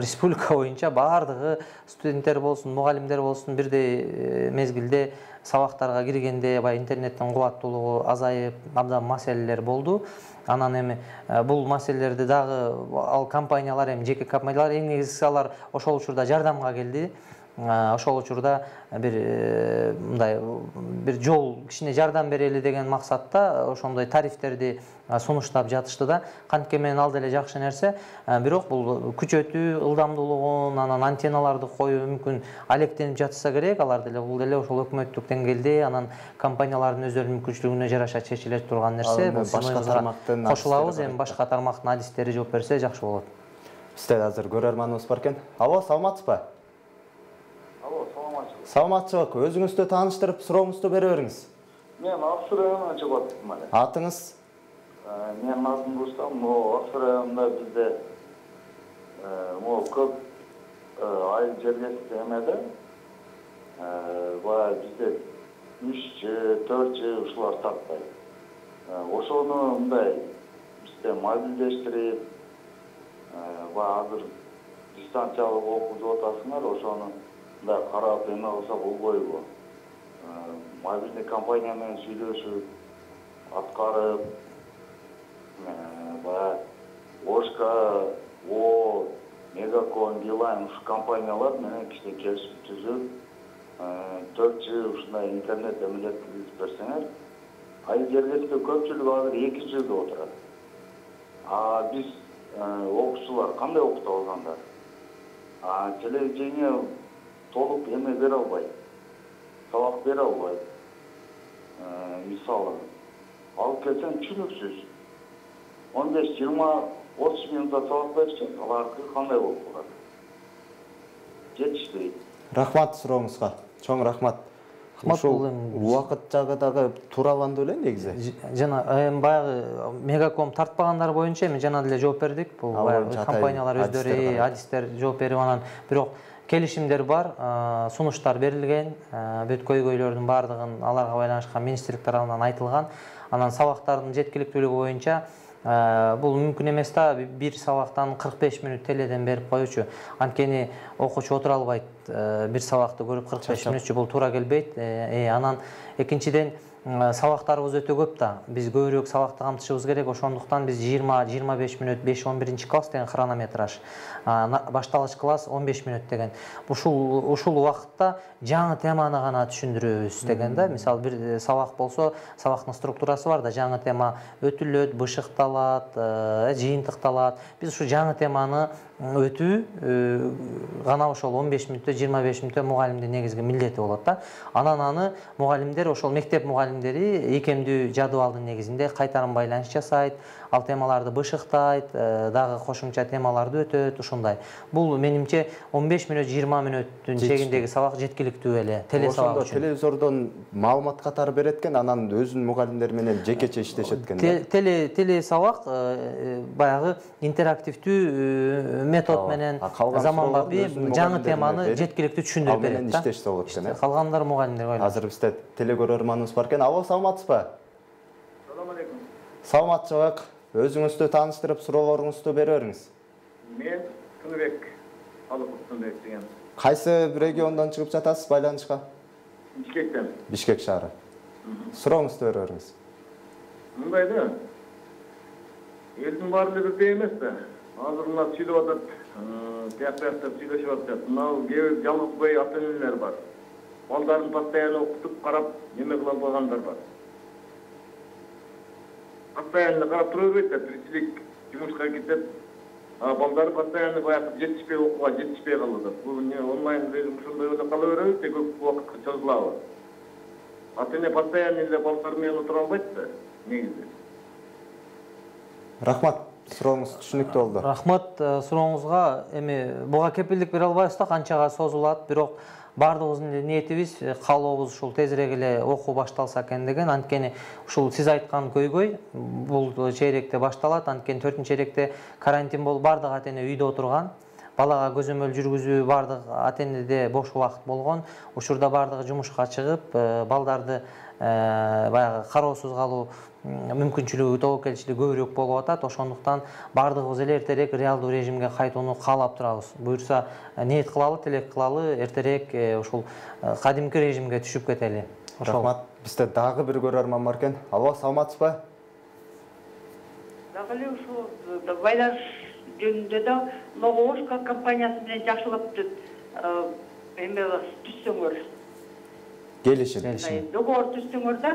республика боюнча баардыгы студенттер болсун, мугалимдер болсун бирдей мезгилде сабактарга киргенде баягы интернеттин кубаттуулугу азайып, абдан маселелер болду. Анан эми бул маселелерди дагы ал компаниялар, эми жеке компаниялар эң негизгиси алар ошол учурда жардамга келди. Ошол учурда бир мындай бир жол кичине жардам берели деген максатта ошондой тарифтерди сунуштап жатышты да. Кантке менен ал деле жакшы нерсе, бирок бул күчөтүү ылдамдуулугун, анан антенналарды коюу мүмкүн алектенип жатса керек. Алар деле бул деле ошол өкмөттүк деңгээлде, анан компаниялардын өздөрүнүн мүмкүнчүлүгүнө жараша чечиле турган нерсе. Башка тармактын кошулабыз, эми башка тармактын адистери жооп берсе жакшы болот. Бизде азыр көрөрманыбыз бар экен. Алло, саламатсызбы? Алло, саламатсызбы. Саламатчылык. Өзүңүздү тааныштырып, сурооңузду бере бериңиз. Мен Аксу районунан чыгып атам эле. Атыңыз? Менин атым Рустам. Могу Аксу районунда бизде могу көп айыл жергиликтүү эмеде баягы бизде үч жы, төрт жы ушулар тартпайт. Ошону мындай бизде мобилдештирип, баягы азыр дистанциялык окуп атасыңар, ошону мындай карап эме кылса болбойбу? Мобилдий компания менен сүйлөшүп, аткарып, баягы Ошка, О, Мегаком, Билайн ушу компаниялар менен кичине келишим түзүп, төрт жы ушундай интернет эмелерди киргизип берсеңер, айыл жергиликтүү көпчүлүгү азыр эки жылда отурат. А биз окуучулар кандай окута алгандар? А телевидение толук эме бере албайт, сабак бере албайт. Мисалы, алып келсең түшүнүксүз. он беш жыйырма отуз минутта сабак беришет, алардыкы кандай болуп калат? Жетиштирбейт. Рахмат сурооңузга. Чоң рахмат. Ушул убакыт жагы дагы туураланды беле негизи. Жана эми баягы Мегаком тартпагандар боюнча эми жана деле жооп бердик. Бул баягы компаниялар өздөрү, адистер жооп берип анан бирок келишимдер бар, сунуштар берилген, бүт көйгөйлөрдүн баардыгын аларга байланышкан министрлик тарабынан айтылган. Анан сабактардын жеткиликтүүлүгү боюнча бул мүмкүн эмес да, бир сабактан кырк беш мүнөт теледен берип коючу. Анткени окуучу отура албайт, бир сабакты көрүп кырк беш мүнөтчү бул туура келбейт. Анан экинчиден сабактарыбыз өтө көп да. Биз көбүрөөк сабакты камтышыбыз керек. Ошондуктан биз жыйырма жыйырма беш мүнөт беш он биринчи класс деген хронометраж, башталыш класс он беш мүнөт деген. Ушул ушул убакытта жаңы теманы гана түшүндүрөбүз деген да. Мисалы бир сабак болсо, сабактын структурасы бар да, жаңы тема өтүлөт, бышыкталат, жыйынтыкталат. Биз ушу жаңы теманы өтүү гана ошол он беш мүнөттө, жыйырма беш мүнөттө мугалимдин негизги милдети болот да. Анан аны мугалимдер, ошол мектеп мугалимдери икемдүү жадыбалдын негизинде кайтарым байланыш жасайт, ал темаларды бышыктайт, дагы кошумча темаларды өтөт, ушундай. Бул менимче он беш мүнөт, жыйырма мүнөттүн чегиндеги сабак жеткиликтүү эле. Теле сабак үчүн. Телевизордон маалымат катары берет экен, анан өзүнүн мугалимдери менен жекече иштешет экен. Теле теле сабак баягы интерактивдүү метод менен заманбапи жаңы теманы жеткиликтүү түшүндүрүп берет. Ал менен иштешсе болот экен. Калгандар мугалимдер ойлойм. Азыр бизде телекөрөрманыбыз бар экен. Алло, саламатсызбы? Салам алейкум. Саламатчылык. Өзүңүздү тааныштырып, суроолоруңузду бере бериңиз. Мен Тыныбек, Алыков Тыныбек деген. Кайсы региондон чыгып жатасыз байланышка? Бишкектен. Бишкек шаары. Сурооңузду бере бериңиз. Мындай да. Элдин баары эле бирдей эмес да. Азыр мына сүйлөп атат, тияк-тияктап сүйлөшүп атышат. Мына кээ бир жалгыз ата-энелер бар. Балдарын постоянно окутуп, карап, неме кыла албагандар бар. Постоянно карап тура бербейт да, тиричилик жумушка кетет. А балдары постоянно баягы жетишпей окууга жетишпей калат. Бул не онлайн режим ушундай эле кала береби, те көп убакытка созулабы? Ата-эне постоянно эле балдар менен отура албайт да, негизи. Рахмат, сурооңуз түшүнүктүү болду. Рахмат сурооңузга. Эми буга кепилдик бере албайбыз да, канчага созулат, бирок бардыгыбыздын ниетибиз, каалообуз ушул тезирээк эле окуу башталса экен деген. Анткени ушул сиз айткан көйгөй бул чейректе башталат. Анткени төртүнчү чейректе карантин болуп бардык ата-эне үйдө отурган. Балага көзөмөл жүргүзүү бардык ата-энеде бош убакыт болгон. Учурда бардыгы жумушка чыгып, балдарды баягы кароосуз калуу мүмкүнчүлүгү, тобокелчилиги көбүрөөк болуп атат. Ошондуктан бардыгыбыз эле эртерээк реалдуу режимге кайтууну каалап турабыз. Буюрса, ниет кылалы, тилек кылалы, эртерээк ушул кадимки режимге түшүп кетели. Рахмат. Бизде дагы бир көрөрман бар экен. Алло, саламатсызбы? Дагы эле ушул байланыш жөнүндө да Логошка компаниясы менен жакшылап эме түзсөңөр. Келишим. Договор түзсөңөр да.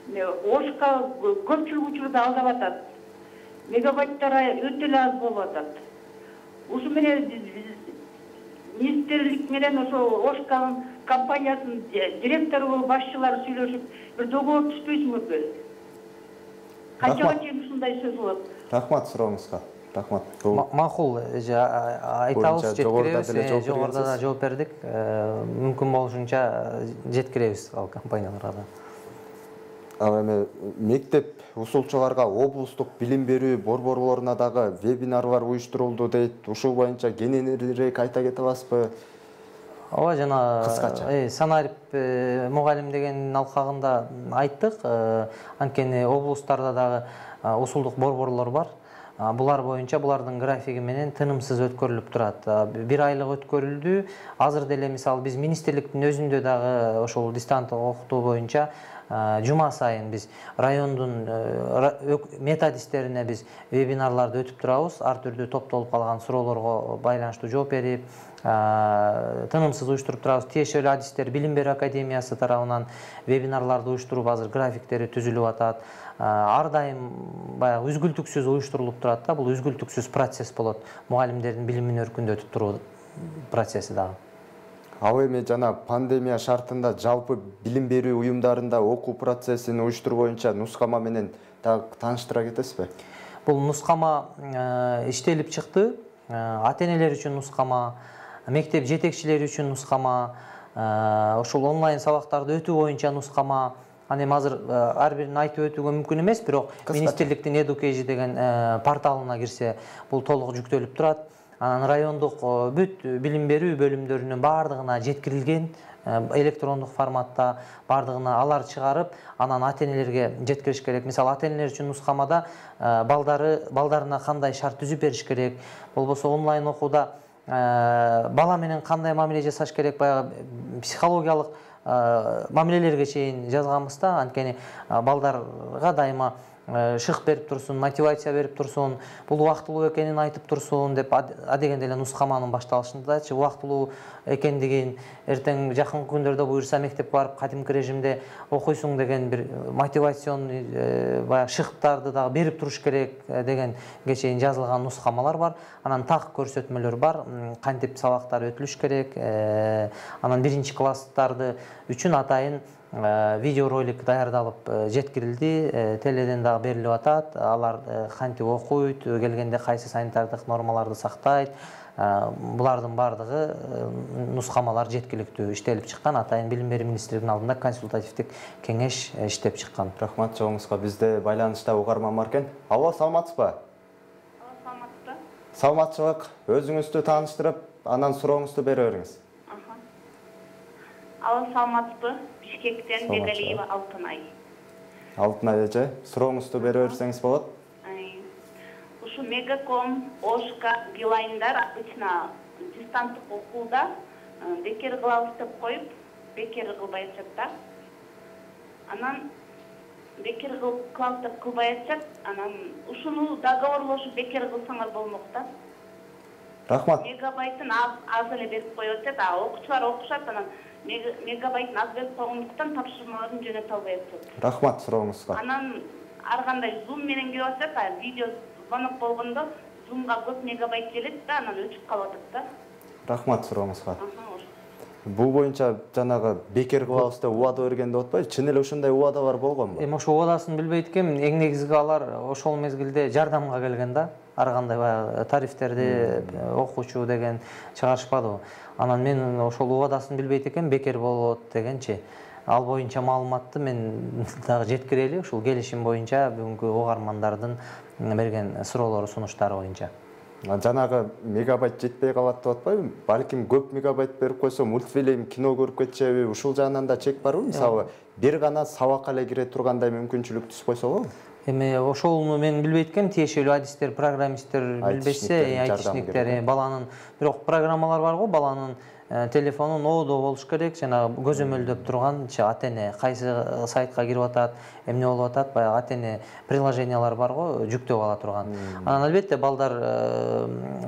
Ошка көпчүлүк учурда алдап атат. Мегабайттары өтө эле аз болуп атат. Ушу менен министрлик менен ошо Ошка компаниясынын директору, башчылары сүйлөшүп, бир договор түзбөйсүңөрбү? Канчага чейин ушундай сөз болот? Рахмат сурооңузга. Рахмат. Макул, айтабыз, жеткиребиз. Жогоруда да жооп бердик. Мүмкүн болушунча жеткиребиз ал компанияларга да. Ал эми мектеп усулчуларга облустук билим берүү борборлоруна дагы вебинарлар уюштурулду дейт. Ушул боюнча кененирээк айта кете аласызбы? Ооба, жана кыскача. Санарип мугалим деген алкагында айттык. Анткени облустарда дагы усулдук борборлор бар. Булар боюнча булардын графиги менен тынымсыз өткөрүлүп турат. Бир айлык өткөрүлдү. Азыр деле мисалы биз министрликтин өзүндө дагы ошол дистанттык окутуу боюнча жума сайын биз райондун методисттерине биз вебинарларды өтүп турабыз. Ар түрдүү топтолуп калган суроолорго байланыштуу жооп берип, тынымсыз уюштуруп турабыз. Тиешелүү адистер Билим берүү академиясы тарабынан вебинарларды уюштуруп, азыр графиктери түзүлүп атат. Ар дайым баягы үзгүлтүксүз уюштурулуп турат да. Бул үзгүлтүксүз процесс болот. Мугалимдердин билимин өркүндөтүп туруу процесси дагы. Ал эми жана пандемия шартында жалпы билим берүү уюмдарында окуу процессин уюштуруу боюнча нускама менен тааныштыра кетесизби? Бул нускама иштелип чыкты. Ата-энелер үчүн нускама, мектеп жетекчилери үчүн нускама, ошол онлайн сабактарды өтүү боюнча нускама. Аны эми азыр ар бирин айтып өтүүгө мүмкүн эмес, бирок министрликтин Education деген порталына кирсе, бул толук жүктөлүп турат. Анан райондук бүт билим берүү бөлүмдөрүнүн баардыгына жеткирилген электрондук форматта, баардыгына алар чыгарып, анан ата-энелерге жеткириш керек. Мисалы, ата-энелер үчүн нускамада балдары балдарына кандай шарт түзүп бериш керек, болбосо онлайн окууда бала менен кандай мамиле жасаш керек, баягы психологиялык мамилелерге чейин жазганбыз да. Анткени балдарга дайыма шык берип турсун, мотивация берип турсун, бул убактылуу экенин айтып турсун деп адегенде эле нускаманын башталышындачы убактылуу экендигин, эртең жакын күндөрдө буюрса мектепке барып кадимки режимде окуйсуң деген бир мотивационный баягы шыктарды дагы берип туруш керек дегенге чейин жазылган нускамалар бар. Анан так көрсөтмөлөр бар, кантип сабактар өтүлүш керек. Анан биринчи класстарды үчүн атайын видеоролик даярдалып жеткирилди, теледен дагы берилип атат. Алар кантип окуйт, келгенде кайсы санитардык нормаларды сактайт. Булардын баардыгы нускамалар жеткиликтүү иштелип чыккан. Атайын билим берүү министрлигинин алдында консультативдик кеңеш иштеп чыккан. Рахмат жоңузга. Бизде байланышта угарман бар экен. Алло, саламатсызбы? Саламатсызбы? Саламатчылык. Өзүңүздү тааныштырып, анан сурооңузду бере бериңиз. Алло, саламатсызбы? Бишкектен Бегалиева Алтынай. Алтынай эже, сурооңузду бере берсеңиз болот. Ушу Мегаком, Ошка, Билайндар обычно дистанттык окууда бекер кылабыз деп коюп, бекер кылбай атышат да. Анан бекер кылып кылбай атышат. Анан ушуну договорлошуп бекер кылсаңар болмок да. Рахмат. Мегабайтын аз эле берип коюп атышат. А окуучулар окушат, анан мегабайтын аз берип койгондуктан тапшырмаларын жөнөтө албай атышат. Рахмат сурооңузга. Анан ар кандай Zoom менен келип атат, видео звонок болгондо Zoomга көп мегабайт келет да, анан өчүп калып атат да. Рахмат сурооңузга. Бул боюнча жанагы бекер кылабыз деп убада бергенде отпайбы? Чын эле ушундай убадалар болгонбу? Эми ошо убадасын билбейт экенмин. Эң негизги алар ошол мезгилде жардамга келген да. Ар кандай баягы тарифтерди окуучу деген чыгарышпадыбы. Анан мен ошол убадасын билбейт экенмин, бекер болот дегенчи. Ал боюнча маалыматты мен дагы жеткире эле, ушул келишим боюнча бүгүнкү угармандардын берген суроолору, сунуштары боюнча. Жанагы мегабайт жетпей калат деп атпайбы? Балким көп мегабайт берип койсо мультфильм, кино көрүп кетчеби? Ушул жагынан да чек барбы? Мисалы, бир гана сабакка эле кире тургандай мүмкүнчүлүк түшүп койсо болобу? Эми ошону мен билбейт экенмин, тиешелүү адистер, программисттер билбесе, айтишниктер, баланын бирок программалар бар го, баланын телефонун оодо болуш керек, жана көзөмөлдөп турганчы ата-эне кайсы сайтка кирип атат, эмне болуп атат, баягы ата-эне приложениялар бар го, жүктөп ала турган. Анан албетте балдар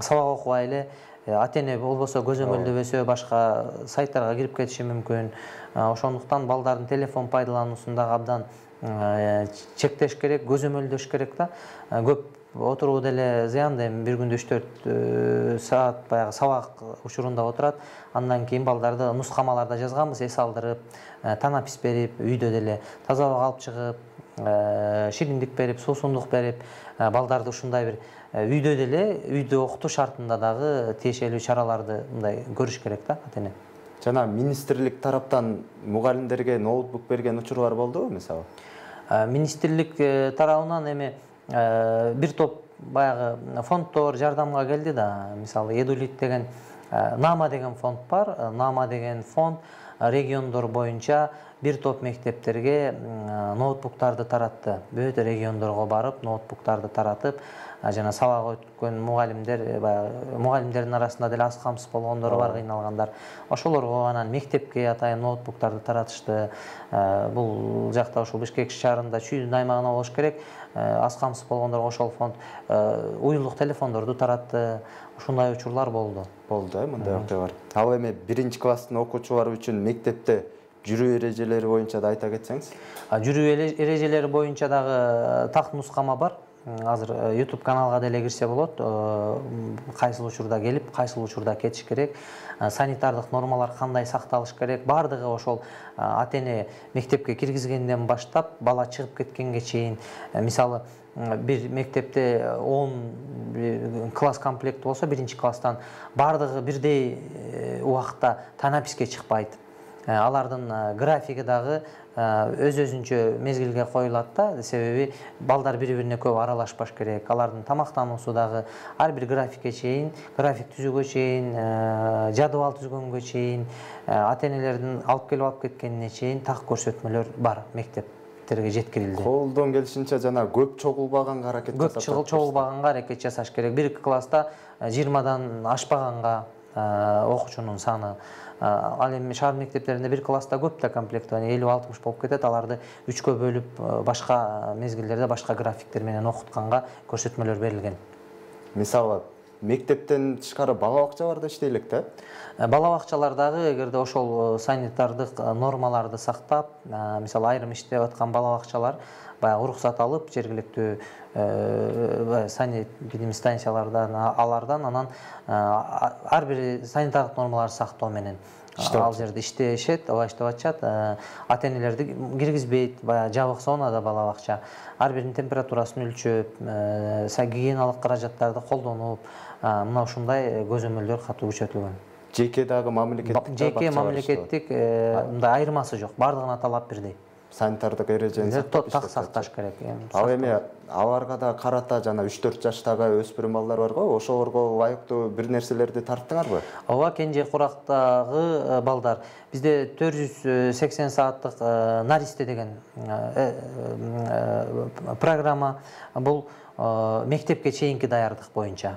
сабак окубай эле ата-эне болбосо көзөмөлдөбөсө башка сайттарга кирип кетиши мүмкүн. Ошондуктан балдардын телефон пайдалануусун дагы абдан чектеш керек, көзөмөлдөш керек да. Көп отуруу деле зыяндуу, эми бир күндө үч төрт саат баягы сабак учурунда отурат. Андан кийин балдарды нускамаларда жазганбыз, эс алдырып, танапис берип, үйдө деле таза абага алып чыгып, шириндик берип, суусундук берип, балдарды ушундай бир үйдө деле, үйдө окутуу шартында дагы тиешелүү чараларды мындай көрүш керек да ата-эне. Жана министрлик тараптан мугалимдерге ноутбук берген учурлар болдубу, мисалы? Министрлик тарабынан эми бир топ баягы фонддор жардамга келди да. Мисалы, Эдулит деген Нама деген фонд бар. Нама деген фонд региондор боюнча бир топ мектептерге ноутбуктарды таратты. Бүт региондорго барып, ноутбуктарды таратып, жана сабак өткөн мугалимдер, мугалимдердин арасында деле аз камсыз болгондор бар, кыйналгандар. Ошолорго анан мектепке атайын ноутбуктарды таратышты. Бул жакта ошол Бишкек шаарында чүйдүн аймагына болуш керек. Аз камсыз болгондорго ошол фонд уюлдук телефондорду таратты. Ушундай учурлар болду. Болду, э, мындай окуя бар. Ал эми биринчи класстын окуучулары үчүн мектепте жүрүү эрежелери боюнча да айта кетсеңиз? Жүрүү эрежелери боюнча дагы так нускама бар. Азыр YouTube каналга деле кирсе болот. Кайсыл учурда келип, кайсыл учурда кетиш керек, санитардык нормалар кандай сакталыш керек, бардыгы ошол ата-эне мектепке киргизгенден баштап бала чыгып кеткенге чейин. Мисалы, бир мектепте он класс комплект болсо, биринчи класстан бардыгы бирдей убакытта танаписке чыкпайт. Алардын графиги дагы өз-өзүнчө мезгилге коюлат да, себеби балдар бири-бирине көп аралашпаш керек. Алардын тамактануусу дагы ар бир графикке чейин, график түзүүгө чейин, жадыбал түзгөнгө чейин, ата-энелердин алып келип алып кеткенине чейин так көрсөтмөлөр бар мектептерге жеткирилди. Колдон келишинче жана көп чогулбаганга аракет жасап. Көп чогулбаганга аракет жасаш керек. Бир класста жыйырмадан ашпаганга окуучунун саны. Ал эми шаар мектептеринде бир класста көп да комплект, элүү алтымыш болуп кетет. Аларды үчкө бөлүп, башка мезгилдерде башка графиктер менен окутканга көрсөтмөлөр берилген. Мисалы, мектептен тышкары бала бакчаларда иштейлик да? Бала бакчалардагы эгерде ошол санитардык нормаларды сактап, мисалы айрым иштеп аткан бала бакчалар баягы уруксат алып, жергиликтүү санэпидемстанциялардан алардан анан ар бир санитардык нормаларды сактоо менен ал жерде иштешет, ооба иштеп атышат. Ата-энелерди киргизбейт, баягы жабык зонада бала бакча. Ар биринин температурасын өлчөп, гигиеналык каражаттарды колдонуп, мына ушундай көзөмөлдөр катуу күчөтүлгөн. Жеке дагы мамлекеттик жеке мамлекеттик мындай айырмасы жок, бардыгына талап бирдей. Санитардык эрежени так сакташ керек. Ал эми аларга да карата жана үч төрт жаштагы өспүрүм балдар бар го, ошолорго ылайыктуу бир нерселерди тарттыңарбы? Ооба, Кенже Курактагы балдар бизде төрт жүз сексен сааттык Наристе деген программа. Бул мектепке чейинки даярдык боюнча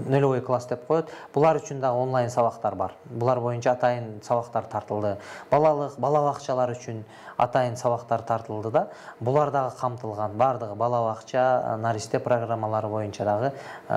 нөлевой класс деп коет. Булар үчүн дагы онлайн сабактар бар. Булар боюнча атайын сабактар тартылды. Балалык, бала бакчалар үчүн атайын сабактар тартылды да. Булар дагы камтылган. Бардыгы бала бакча, наристе программалары боюнча дагы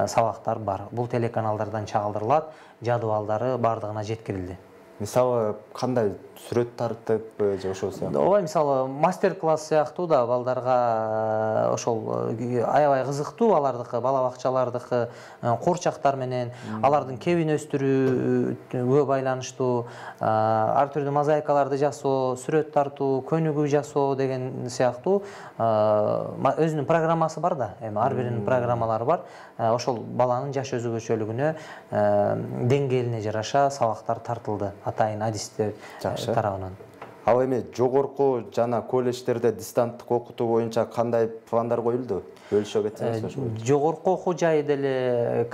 сабактар бар. Бул телеканалдардан чагылдырылат, жадыбалдары бардыгына жеткирилди. Мисалы, кандай сүрөт тартып же ошол сыяктуу? Ооба, мисалы, мастер-класс сыяктуу да балдарга ошол аябай кызыктуу, алардыкы, бала бакчалардыкы куурчактар менен, алардын кебин өстүрүүгө байланыштуу, ар түрдүү мозаикаларды жасоо, сүрөт тартуу, көнүгүү жасоо деген сыяктуу өзүнүн программасы бар да, эми ар биринин программалары бар. Ошол баланын жаш өзгөчөлүгүнө, деңгээлине жараша сабактар тартылды атайын адистер тарабынан. Ал эми жогорку жана колледждерде дистанттык окутуу боюнча кандай пландар коюлду? Бөлүшө кетсеңиз. Жогорку окуу жайы деле,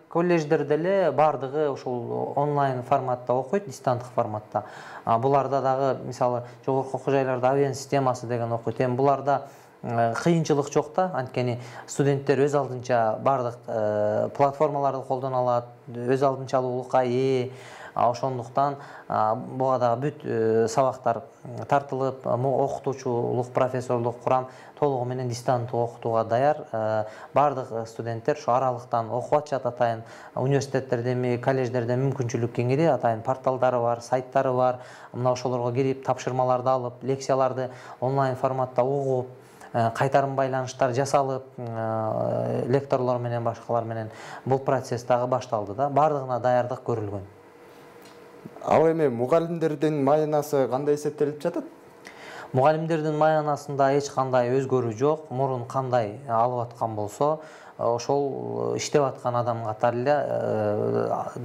колледждер деле бардыгы ошол онлайн форматта окуйт, дистанттык форматта. Буларда дагы, мисалы, жогорку окуу жайларда авиан системасы деген окуйт. Эми буларда кыйынчылык жок да, анткени студенттер өз алдынча бардык платформаларды колдоно алат, өз алдынчалуулукка ээ. Ошондуктан буга дагы бүт сабактар тартылып, окутуучулук, профессорлук курам толугу менен дистанттык окутууга даяр. Бардык студенттер ошо аралыктан окуп атышат, атайын университеттерде, колледждерде мүмкүнчүлүк кеңири, атайын порталдары бар, сайттары бар. Мына ошолорго кирип, тапшырмаларды алып, лекцияларды онлайн форматта угуп, кайтарым байланыштар жасалып, лекторлор менен, башкалар менен бул процесс дагы башталды да. Бардыгына даярдык көрүлгөн. Ал эми мугалимдердин маянасы кандай эсептелип жатат? Мугалимдердин маянасында эч кандай өзгөрүү жок. Мурун кандай алып аткан болсо, ошол иштеп аткан адам катары эле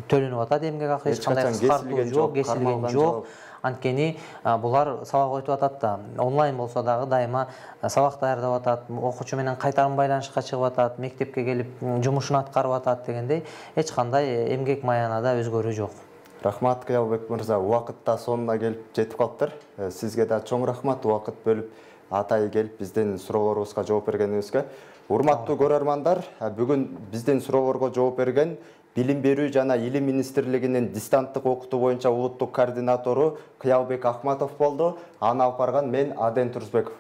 төлөнүп атат эмгек акы, эч кандай кыскартуу жок, кесилген жок. Анткени булар сабак өтүп атат да. Онлайн болсо дагы дайыма сабак даярдап атат, окуучу менен кайтарым байланышка чыгып атат, мектепке келип жумушун аткарып атат дегендей, эч кандай эмгек маянада өзгөрүү жок. Рахмат, Кыялбек мырза. Убакыт да сонуна келип жетип калыптыр. Сизге да чоң рахмат, убакыт бөлүп атайы келип биздин суроолорубузга жооп бергениңизге. Урматтуу көрөрмандар, бүгүн биздин суроолорго жооп берген Билим берүү жана Илим министрлигинин дистанттык окутуу боюнча улуттук координатору Кыялбек Ахматов болду. Аны алып барган мен Аден Турсбеков.